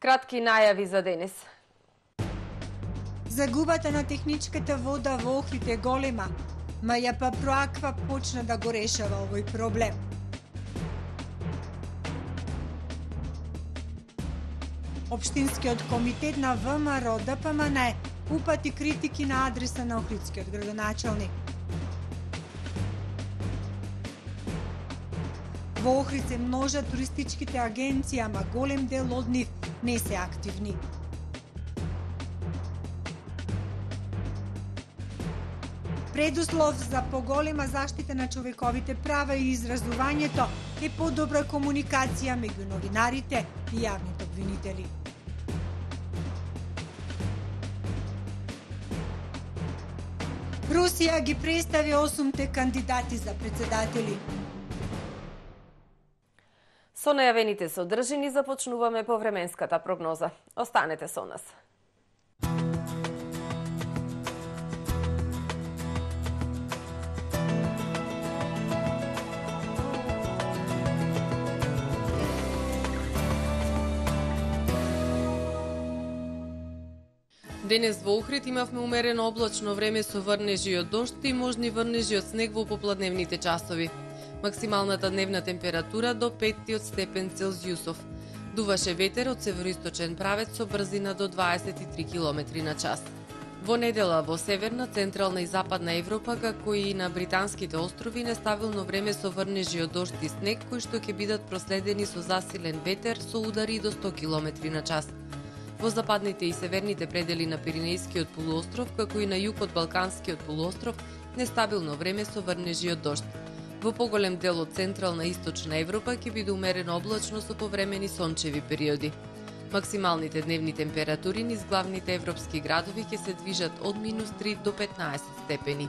Кратки најави за денес. Загубата на техничката вода во Охрид е голема, МЈП Проаква почна да го решава овој проблем. Општинскиот комитет на ВМРО ДПМН упати критики на адреса на охридскиот градоначалник. Во Охрид се множат туристичките агенции, ама голем дел од нив не се активни. Предуслов за поголема заштита на човековите права и изразувањето е подобра комуникација меѓу новинарите и јавните обвинители. Русија ги представи 8 кандидати за председатели. Со најавените содржини започнуваме по временската прогноза. Останете со нас. Денес во Охрид имавме умерено облачно време со врнежи од дожд и можни врнежи од снег во попладневните часови. Максималната дневна температура до 5 степен Целзиусов. Дуваше ветер од североисточен правец со брзина до 23 км на час. Во недела во северна, централна и западна Европа, како и на британските острови, нестабилно време со врнежи од дожд и снег, кои што ќе бидат проследени со засилен ветер со удари до 100 км на час. Во западните и северните предели на Пиренејскиот полуостров, како и на југ од Балканскиот полуостров, нестабилно време со врнежи од дожд. Во поголем дел од централна и источна Европа ќе биде умерено облачно со повремени сончеви периоди. Максималните дневни температури низ главните европски градови ќе се движат од -3 до 15 степени.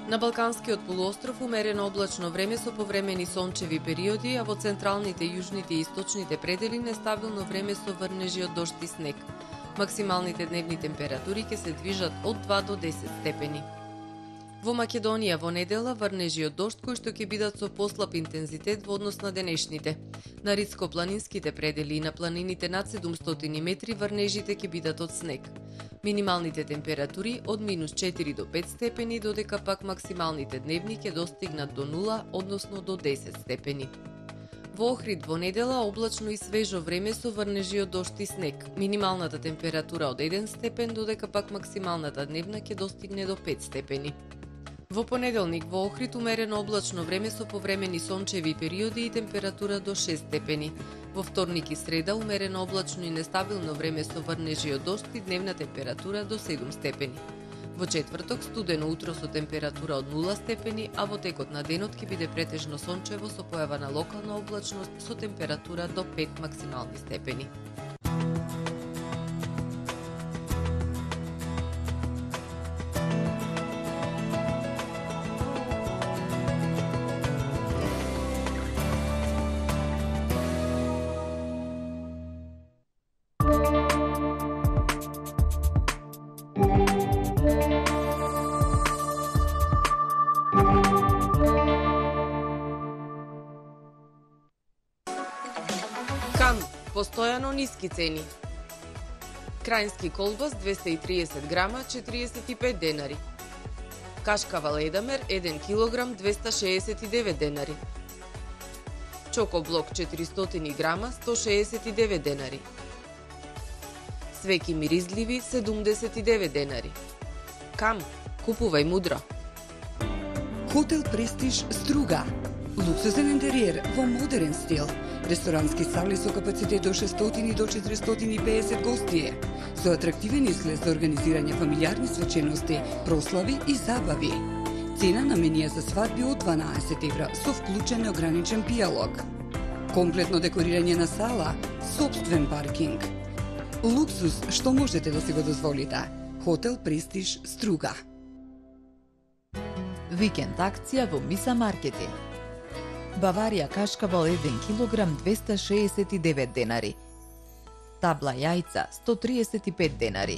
На Балканскиот полуостров умерено облачно време со повремени сончеви периоди, а во централните, јужните и источните предели нестабилно време со врнежи од дожд и снег. Максималните дневни температури ќе се движат од 2 до 10 степени. Во Македонија во недела врнежи од дожд кои што ќе бидат со послаб интензитет во однос на денешните. На ридско-планинските предели и на планините над 700 метри врнежите ќе бидат од снег. Минималните температури од -4 до 5 степени, додека пак максималните дневни ќе достигнат до 0, односно до 10 степени. Во Охрид во недела облачно и свежо време со врнежи од дожд и снег. Минималната температура од 1 степен, додека пак максималната дневна ќе достигне до 5 степени. Во понеделник во Охрид умерено облачно време со повремени сончеви периоди и температура до 6 степени. Во вторник и среда умерено облачно и нестабилно време со врнежи од дожд и дневна температура до 7 степени. Во четврток студено утро со температура од 0 степени, а во текот на денот ќе биде претежно сончево со појава на локална облачност со температура до 5 максимални степени. Постојано ниски цени. Крајнски колбас 230 грама 45 денари. Кашкава ледамер 1 килограм 269 денари. Чокоблок 400 грама 169 денари. Свеки миризливи 79 денари. Кам, купувај мудро. Хотел Престиж Струга. Луксузен интериер во модерен стил. Ресторански сали со капацитет од 600 до 450 гостие, со атрактивен изглед за организирање фамилиарни свечености, прослави и забави. Цена на менија за свадби од 12 евра со вклучен неограничен пијалог. Комплетно декорирање на сала, сопствен паркинг. Луксус што можете да си го дозволите. Хотел Престиж Струга. Викенд акција во Миса Маркети. Баварија кашкавал 1 килограм 269 денари. Табла јајца 135 денари.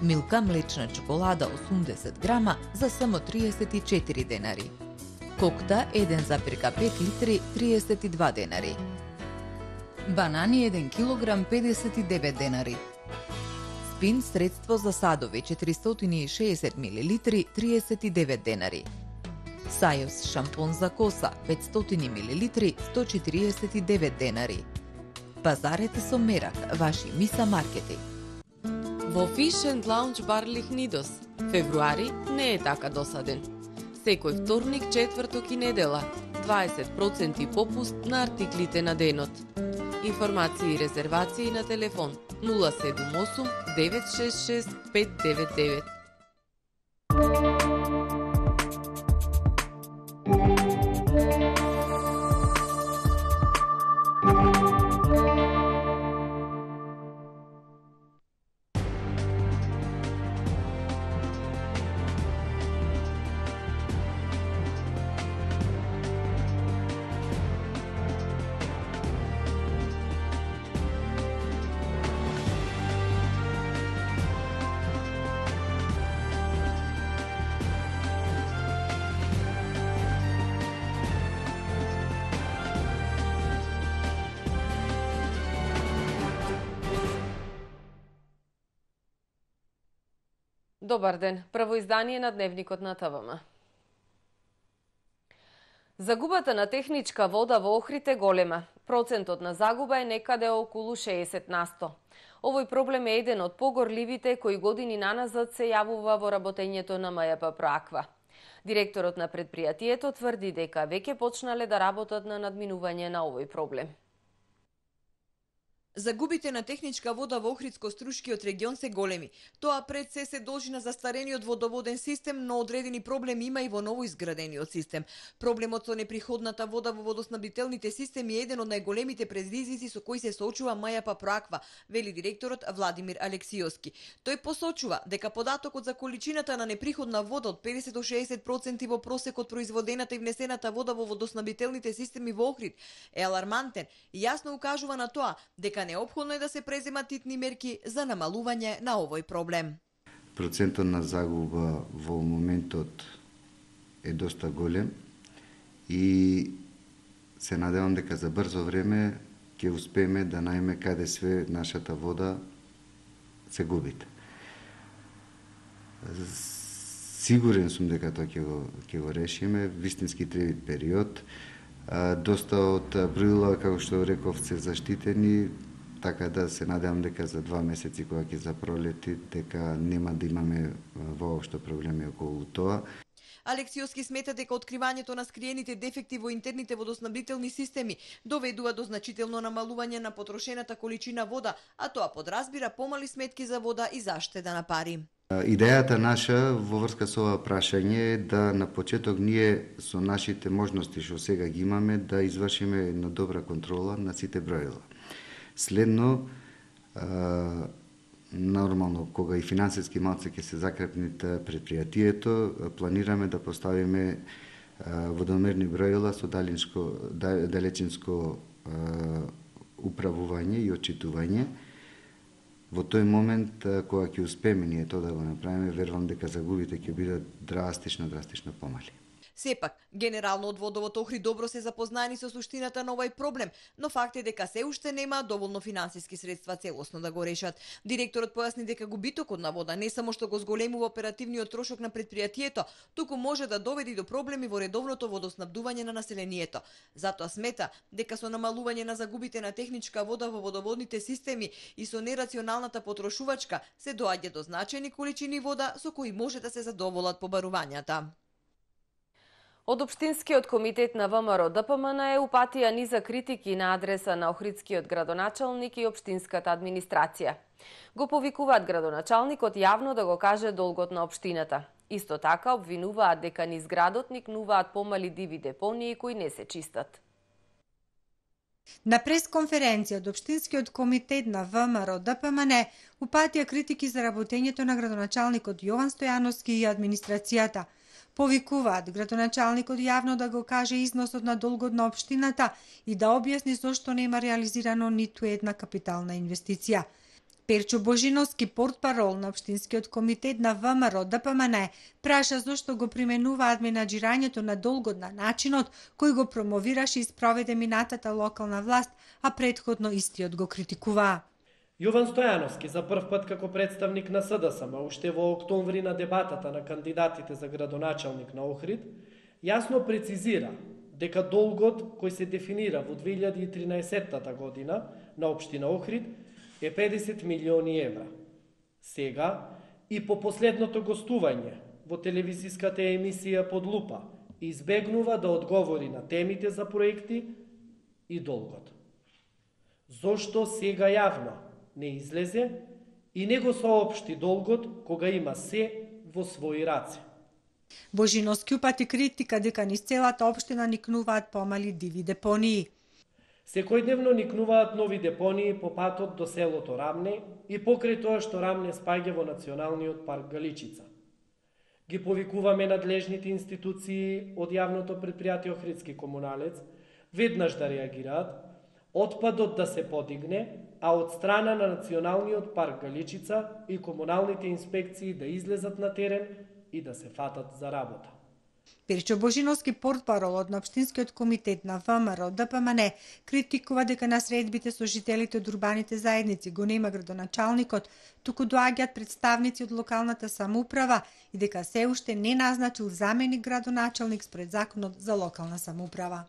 Милка млечна чоколада 80 грама за само 34 денари. Кокта 1,5 литри 32 денари. Банани 1 килограм 59 денари. Спин средство за садови 460 мл 39 денари. Сајос шампон за коса 500 мл 149 денари. Пазарете со мерак, ваши Миса маркети. Во Fish and Lounge бар Лихнидос, февруари не е така досаден. Секој вторник, четврток и недела, 20% попуст на артиклите на денот. Информации и резервации на телефон 078 966 599. Добар ден, прво издание на Дневникот на ТВМ. Загубата на техничка вода во Охрид е голема. Процентот на загуба е некаде околу 60%. Овој проблем е еден од погорливите кои години наназад се јавува во работењето на МЈП Проаква. Директорот на предпријатието тврди дека веќе почнале да работат на надминување на овој проблем. Загубите на техничка вода во Охридско-Струшкиот регион се големи. Тоа пред се должи на застарениот водоводен систем, но одредени проблеми има и во новоизградениот систем. Проблемот со неприходната вода во водоснабдителните системи е еден од најголемите предизвици со кои се соочува МЈП Проаква, вели директорот Владимир Алексиовски. Тој посочува дека податокот за количината на неприходна вода од 50 до 60% во просек од производената и внесената вода во водоснабдителните системи во Охрид е алармантен и јасно укажува на тоа дека неопходно е да се преземат итни мерки за намалување на овој проблем. Процентот на загуба во моментот е доста голем и се надевам дека за брзо време ќе успееме да најме каде све нашата вода се губите. Сигурен сум дека тоа ќе го решиме, вистински треба период. Доста од правила, како што реков, се заштитени, така да се надевам дека за 2 месеци кога ќе запролети, дека нема да имаме воопшто проблеми околу тоа. Алексиовски смета дека откривањето на скриените дефекти во интерните водоснабдителни системи доведува до значително намалување на потрошената количина вода, а тоа подразбира помали сметки за вода и заштеда на пари. Идејата наша во врска со ова прашање е да на почеток ние со нашите можности што сега ги имаме да извршиме една добра контрола на сите броила. Следно, нормално, кога и финансиски малце ќе се закрепни предпријатието, планираме да поставиме водомерни броила со далечинско управување и отчитување. Во тој момент, кога ќе успееме ние тоа да го направиме, верувам дека загубите ќе бидат драстично помали. Сепак, генерално од водовод Охрид добро се запознаени со суштината на овој проблем, но факт е дека се уште нема доволно финансиски средства целосно да го решат. Директорот појасни дека губитокот на вода не само што го зголемува оперативниот трошок на предпријатието, туку може да доведе до проблеми во редовното водоснабдување на населението. Затоа смета дека со намалување на загубите на техничка вода во водоводните системи и со нерационалната потрошувачка се доаѓа до значајни количини вода со кои може да се задоволат побарувањата. Од Општинскиот комитет на ВМРО ДПМН е упатија низа критики на адреса на охридскиот градоначалник и општинската администрација. Го повикуваат градоначалникот јавно да го каже долгот на општината. Исто така обвинуваат дека низ градот никнуваат помали диви депонии кои не се чистат. На пресконференција од Општинскиот комитет на ВМРО ДПМН упатија критики за работењето на градоначалникот Јован Стојановски и администрацијата. Повикуваат градоначалникот јавно да го каже износот на долгот на општината и да објасни зошто нема реализирано ниту една капитална инвестиција. Перчо Божиновски, портпарол на Општинскиот комитет на ВМРО ДПМН, праша зошто го применуваат менаџирањето на долгот на начинот кој го промовираше и спроведе минатата локална власт, а претходно истиот го критикуваа. Јован Стојановски за прв пат како представник на СДСМ, уште во октомври на дебатата на кандидатите за градоначалник на Охрид, јасно прецизира дека долгот кој се дефинира во 2013 година на Општина Охрид е 50 милиони евра. Сега и по последното гостување во телевизиската емисија Под лупа избегнува да одговори на темите за проекти и долгот. Зошто сега јавно не излезе и не го соопшти долгот кога има се во своји раце? Божиновски упати критика дека низ целата општина никнуваат помали диви депонии. Секојдневно никнуваат нови депонии по патот до селото Рамне и покрај тоа што Рамне спаѓа во Националниот парк Галичица. Ги повикуваме надлежните институции од јавното предпријатие Охридски комуналец веднаш да реагираат, отпадот да се подигне, а од страна на Националниот парк Галичица и комуналните инспекции да излезат на терен и да се фатат за работа. Перчо Божиновски, портпарол од Општинскиот комитет на ВМРО ДПМН, критикува дека на средбите со жителите од урбаните заедници го нема градоначалникот, туку доаѓаат представници од локалната самоуправа и дека се уште не назначил заменик градоначалник според законот за локална самоуправа.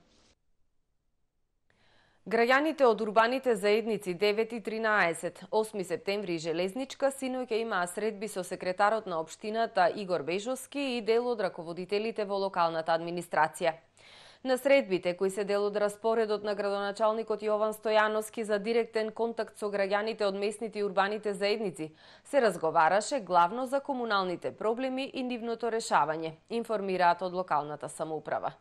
Граѓаните од урбаните заедници 9 и 13, 8 септември и Железничка синоќа имаа средби со секретарот на општината Игор Бежовски и дел од раководителите во локалната администрација. На средбите, кои се дел од распоредот на градоначалникот Јован Стојановски за директен контакт со граѓаните од местните и урбаните заедници, се разговараше главно за комуналните проблеми и нивното решавање, информираат од локалната самоуправа.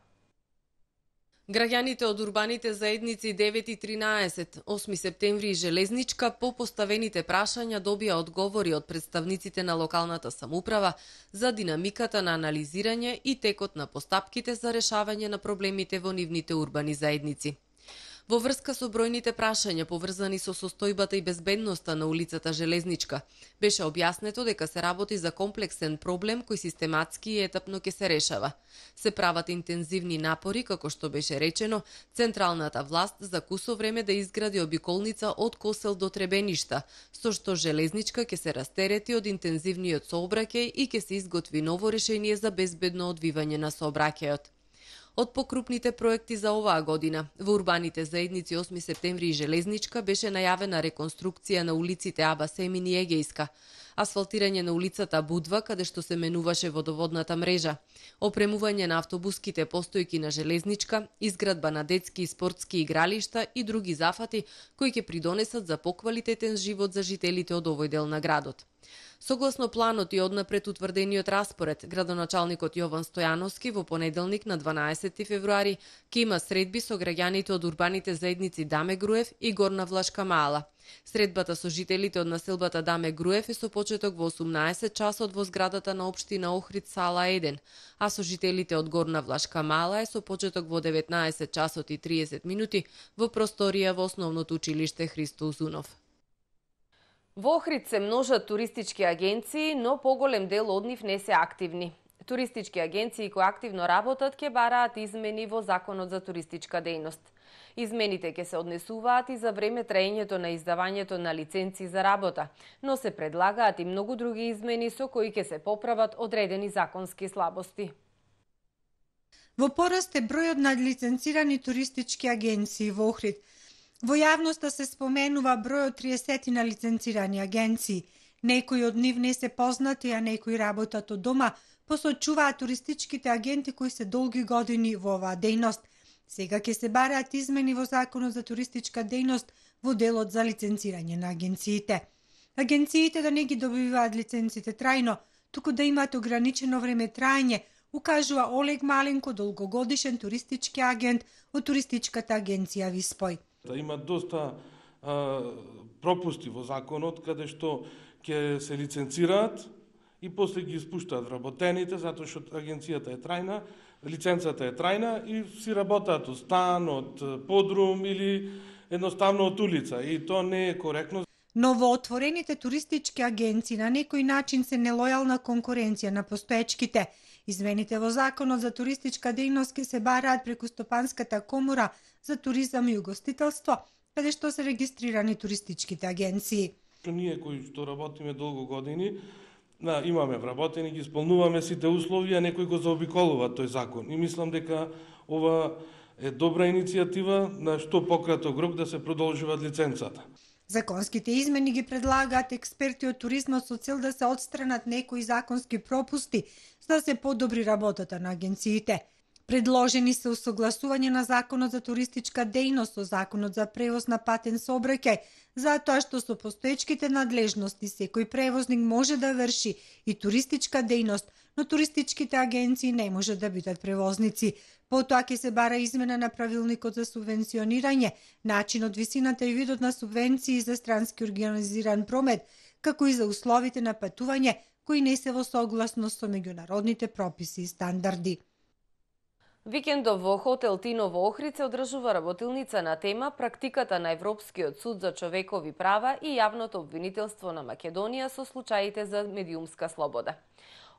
Граѓаните од урбаните заедници 9 и 13, 8 септември и Железничка по поставените прашања добија одговори од представниците на локалната самоуправа за динамиката на анализирање и текот на постапките за решавање на проблемите во нивните урбани заедници. Во врска со бројните прашања поврзани со состојбата и безбедноста на улицата Железничка, беше објаснето дека се работи за комплексен проблем кој систематски и етапно ќе се решава. Се прават интензивни напори, како што беше речено, централната власт закусо време да изгради обиколница од Косел до Требеништа, со што Железничка ќе се растерети од интензивниот сообраќај и ќе се изготви ново решение за безбедно одвивање на сообраќајот. Од покрупните проекти за оваа година, во урбаните заедници 8 септември и Железничка беше најавена реконструкција на улиците Аба Семин и Егејска, асфалтирање на улицата Будва, каде што се менуваше водоводната мрежа, опремување на автобуските постојки на Железничка, изградба на детски и спортски игралишта и други зафати кои ќе придонесат за поквалитетен живот за жителите од овој дел на градот. Согласно планот и однапред утврдениот распоред, градоначалникот Јован Стојановски во понеделник на 12 февруари ќе има средби со граѓаните од урбаните заедници Даме Груев и Горна Влашка Мала. Средбата со жителите од населбата Даме Груев е со почеток во 18 часот во зградата на општина Охрид сала 1, а со жителите од Горна Влашка Мала е со почеток во 19 часот и 30 минути во просторија во основното училиште Христо Узунов. Во Охрид се множат туристички агенции, но поголем дел од нив не се активни. Туристички агенции кои активно работат ќе бараат измени во Законот за туристичка дејност. Измените ќе се однесуваат и за време траењето на издавањето на лиценци за работа, но се предлагаат и многу други измени со кои ќе се поправат одредени законски слабости. Во пораст е бројот на лиценцирани туристички агенции во Охрид. Во јавноста се споменува бројот 30 на лиценцирани агенции. Некои од нив не се познати, а некои работат од дома, посочуваат туристичките агенти кои се долги години во оваа дејност. Сега ќе се бараат измени во Законот за туристичка дејност во делот за лиценцирање на агенциите. Агенциите да не ги добиваат лиценците трајно, туку да имаат ограничено време траење, укажува Олег Маленко, долгогодишен туристички агент од туристичката агенција Виспој. Има доста пропусти во законот каде што ќе се лиценцираат и после ги испуштаат вработените затоа што агенцијата е трајна, лиценцата е трајна и си работаат од стан, од подрум или едноставно од улица и тоа не е коректно. Новоотворените туристички агенции на некој начин се нелојална конкуренција на постоечките. Измените во Законот за туристичка дејност ќе се бараат преку Стопанската комора за туризам и угостителство, каде што се регистрирани туристичките агенции. Ние кои што работиме долго години, имаме вработени, ги исполнуваме сите услови, а некој го заобиколува тој закон. И мислам дека ова е добра иницијатива на што пократок рок да се продолжуваат лиценцата. Законските измени ги предлагаат експерти од туризмот со цел да се отстранат некои законски пропусти за да се подобри работата на агенциите. Предложени се усогласување на Законот за туристичка дејност со Законот за превоз на патен сообраќај, затоа што со постоечките надлежности секој превозник може да врши и туристичка дејност, но туристичките агенции не може да бидат превозници. Потоа ќе се бара измена на правилникот за субвенционирање, начинот, висината и видот на субвенции за странски организиран промет, како и за условите на патување кои не се во согласност со меѓународните прописи и стандарди. Викендов во хотел Тино во Охрид се одржува работилница на тема практиката на Европскиот суд за човекови права и јавното обвинителство на Македонија со случаите за медиумска слобода.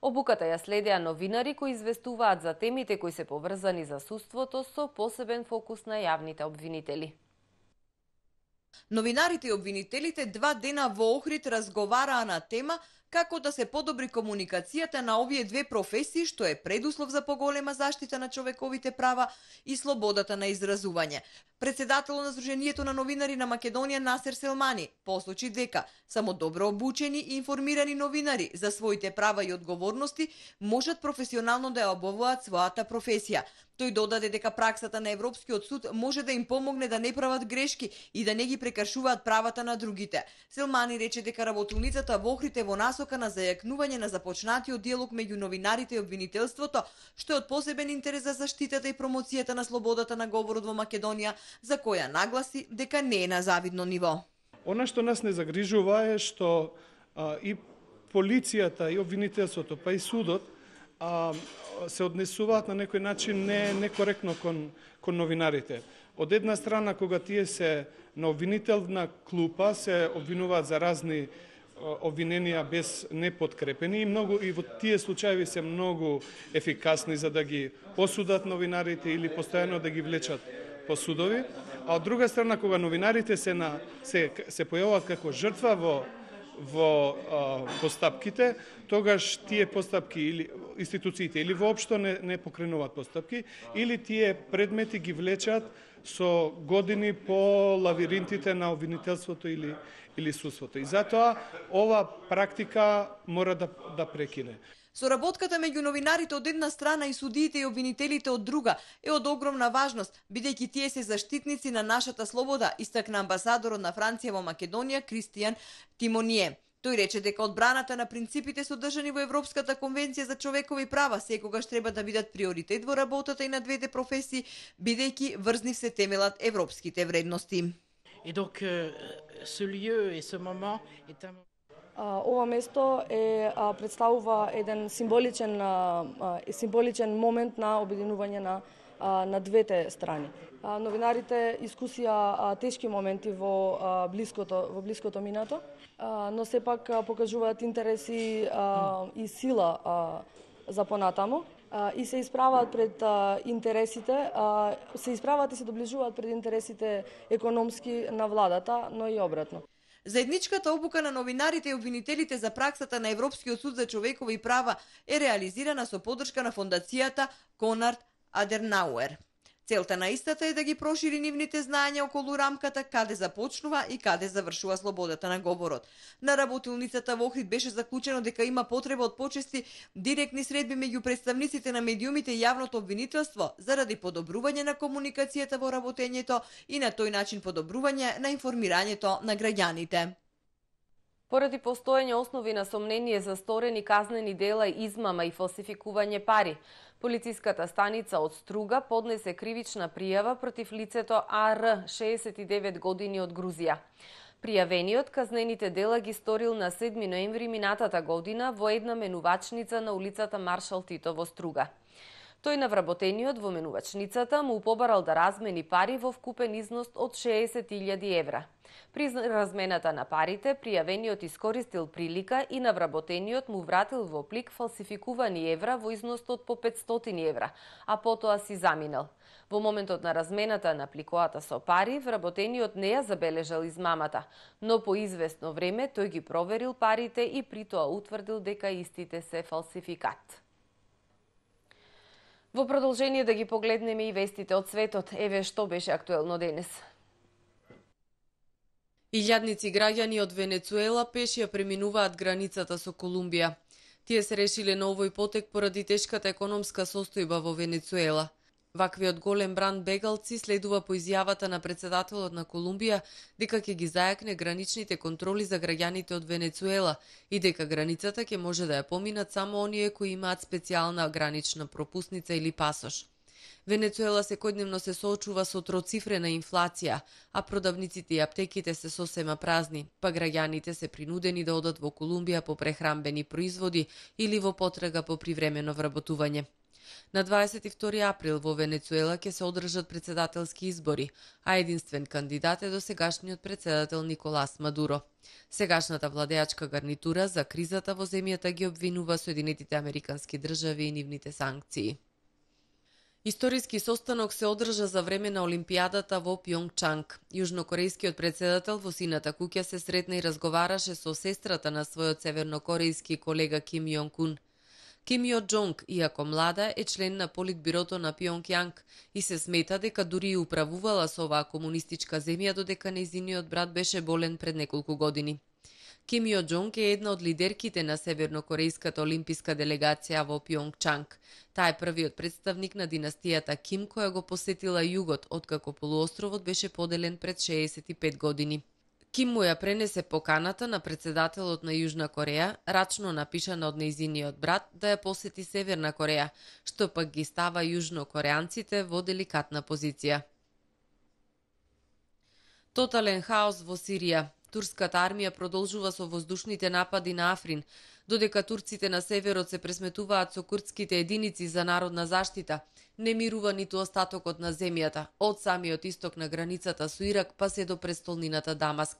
Обуката ја следеа новинари кои известуваат за темите кои се поврзани за судството со посебен фокус на јавните обвинители. Новинарите и обвинителите 2 дена во Охрид разговараа на тема како да се подобри комуникацијата на овие две професии, што е предуслов за поголема заштита на човековите права и слободата на изразување. Председателот на Сдруженијето на новинари на Македонија Насер Селмани посочи дека само добро обучени и информирани новинари за своите права и одговорности можат професионално да ја обавуваат својата професија. Тој додаде дека праксата на Европскиот суд може да им помогне да не прават грешки и да не ги прекршуваат правата на другите. Селмани рече дека работилницата во Охрид е во насока на зајакнување на започнатиот диалог меѓу новинарите и обвинителството, што е од посебен интерес за заштитата и промоцијата на слободата на говорот во Македонија, за која нагласи дека не е на завидно ниво. Она што нас не загрижува е што и полицијата, и обвинителството, па и судот се однесуваат на некој начин некоректно кон новинарите. Од една страна, кога тие се на обвинителна клупа, се обвинуваат за разни обвиненија без неподкрепени и во тие случаи се многу ефикасни за да ги осудат новинарите или постојано да ги влечат по судови, а од друга страна кога новинарите се појавуваат како жртва во постапките, тогаш тие постапки или институциите или воопшто не покренуваат постапки, или тие предмети ги влечат со години по лавиринтите на обвинителството или судството. И затоа ова практика мора да прекине. Соработката меѓу новинарите од една страна и судиите и обвинителите од друга е од огромна важност, бидејќи тие се заштитници на нашата слобода, истакна амбасадорот на Франција во Македонија Кристијан Тимоние. Тој рече дека одбраната на принципите содржани во Европската конвенција за човекови права секогаш треба да бидат приоритет во работата и на двете професии, бидејќи врз нив се темелат европските вредности. Et donc ce lieu et ce moment est un Ова место представува еден символичен момент на обединување на двете страни. Новинарите искусија тешки моменти во блиското минато, но сепак покажуваат интереси и сила за понатамо и се исправаат пред интересите, и се доближуваат пред интересите економски на владата, но и обратно. Заедничката обука на новинарите и обвинителите за праксата на Европскиот суд за човекови права е реализирана со поддршка на фондацијата Конрад Аденауер. Целта на истата е да ги прошири нивните знаења околу рамката каде започнува и каде завршува слободата на говорот. На работилницата во Охрид беше заклучено дека има потреба од почести директни средби меѓу представниците на медиумите и јавното обвинителство заради подобрување на комуникацијата во работењето и на тој начин подобрување на информирањето на граѓаните. Поради постоење основи на сомнение за сторени казнени дела, измама и фалсификување пари, полициската станица од Струга поднесе кривична пријава против лицето АР, 69 години од Грузија. Пријавениот казнените дела ги сторил на 7 ноември минатата година во една менувачница на улицата Маршал Тито во Струга. Тој на вработениот во менувачницата му побарал да размени пари во вкупен износ од 60.000 евра. При размената на парите, пријавениот искористил прилика и на вработениот му вратил во плик фалсификувани евра во износ од по 500 евра, а потоа си заминал. Во моментот на размената на пликоата со пари, вработениот не ја забележал измамата, но по известно време тој ги проверил парите и при тоа утврдил дека истите се фалсификат. Во продолжение да ги погледнеме и вестите од светот, еве што беше актуелно денес. Илјадници граѓани од Венецуела пешија преминуваат границата со Колумбија. Тие се решиле на овој потек поради тешката економска состојба во Венецуела. Ваквиот голем бран бегалци следува по изјавата на председателот на Колумбија дека ќе ги зајакне граничните контроли за граѓаните од Венецуела и дека границата ќе може да ја поминат само оние кои имаат специјална гранична пропусница или пасош. Венецуела секојдневно се соочува со троцифрена инфлација, а продавниците и аптеките се сосема празни, па граѓаните се принудени да одат во Колумбија по прехранбени производи или во потрага по привремено вработување. На 22 април во Венецуела ќе се одржат председателски избори, а единствен кандидат е досегашниот председател Николас Мадуро. Сегашната владеачка гарнитура за кризата во земјата ги обвинува Соединетите Американски држави и нивните санкции. Историски состанок се одржа за време на Олимпијадата во Пјонгчанг. Јужнокорејскиот председател во сината куќа се сретна и разговараше со сестрата на својот севернокорејски колега Ким Јонг Ун. Ким Јо Џонг, иако млада, е член на политбирото на Пјонгјанг и се смета дека дури и управувала со оваа комунистичка земја додека нејзиниот брат беше болен пред неколку години. Ким Јо Џонг е една од лидерките на севернокорејската олимписка делегација во Пјонгчанг. Таа е првиот представник на династијата Ким која го посетила југот, откако полуостровот беше поделен пред 65 години. Ким му ја пренесе поканата на председателот на Јужна Кореја, рачно напишана од нејзиниот брат, да ја посети Северна Кореја, што пак ги става јужнокореанците во деликатна позиција. Тотален хаос во Сирија. Турската армија продолжува со воздушните напади на Африн, додека турците на северот се пресметуваат со курдските единици за народна заштита. Не мирува ниту остатокот на земјата, од самиот исток на границата со Ирак па се до престолнината Дамаск.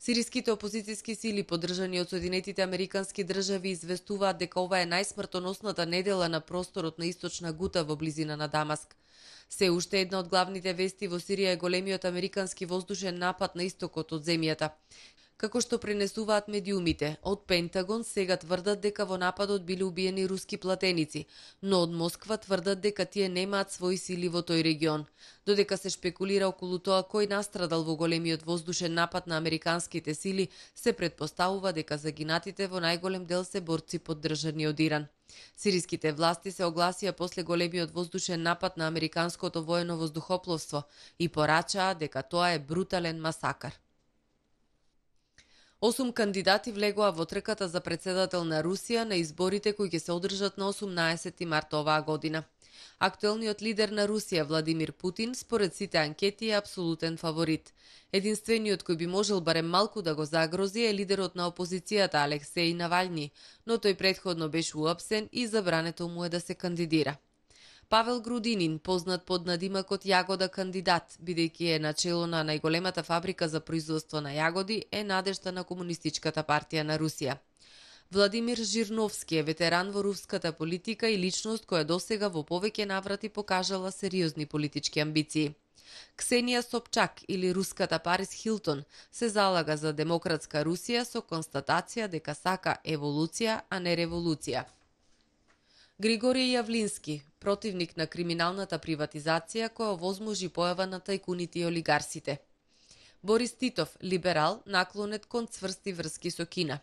Сириските опозицијски сили, поддржани од Соединетите Американски држави, известуваат дека ова е најсмртоносната недела на просторот на источна Гута во близина на Дамаск. Се уште една од главните вести во Сирија е големиот американски воздушен напад на истокот од земјата. Како што пренесуваат медиумите, од Пентагон сега тврдат дека во нападот биле убиени руски платеници, но од Москва тврдат дека тие немаат своји сили во тој регион. Додека се шпекулира околу тоа кој настрадал во големиот воздушен напад на американските сили, се претпоставува дека загинатите во најголем дел се борци поддржани од Иран. Сириските власти се огласија после големиот воздушен напад на американското воено воздухопловство и порачаа дека тоа е брутален масакар. 8 кандидати влегоа во трката за председател на Русија на изборите кои ќе се одржат на 18 март оваа година. Актуелниот лидер на Русија, Владимир Путин, според сите анкети е апсолутен фаворит. Единствениот кој би можел барем малку да го загрози е лидерот на опозицијата Алексеј Навални, но тој претходно беше уапсен и забрането му е да се кандидира. Павел Грудинин, познат под надимакот Јагода кандидат, бидејќи е начело на најголемата фабрика за производство на јагоди, е надежта на Комунистичката партија на Русија. Владимир Жирновски е ветеран во руската политика и личност која досега во повеќе наврати покажала сериозни политички амбиции. Ксенија Собчак или руската Парис Хилтон се залага за демократска Русија со констатација дека сака еволуција, а не револуција. Григорий Јавлински, противник на криминалната приватизација која овозможи појава на тајкуните и олигарсите. Борис Титов, либерал, наклонет кон цврсти врски со Кина.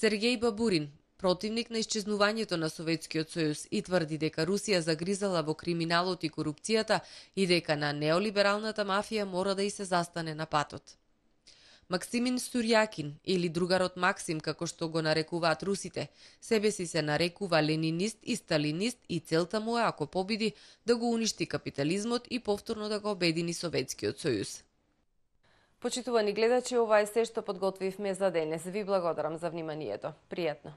Сергеј Бабурин, противник на исчезнувањето на Советскиот сојуз и тврди дека Русија загризала во криминалот и корупцијата и дека на неолибералната мафија мора да и се застане на патот. Максимин Сурјакин, или другарот Максим, како што го нарекуваат русите, себе си се нарекува ленинист и сталинист и целта му е, ако победи, да го уништи капитализмот и повторно да го обедини Советскиот сојуз. Почитувани гледачи, ова е се што подготвивме за денес. Ви благодарам за вниманието. Пријатно.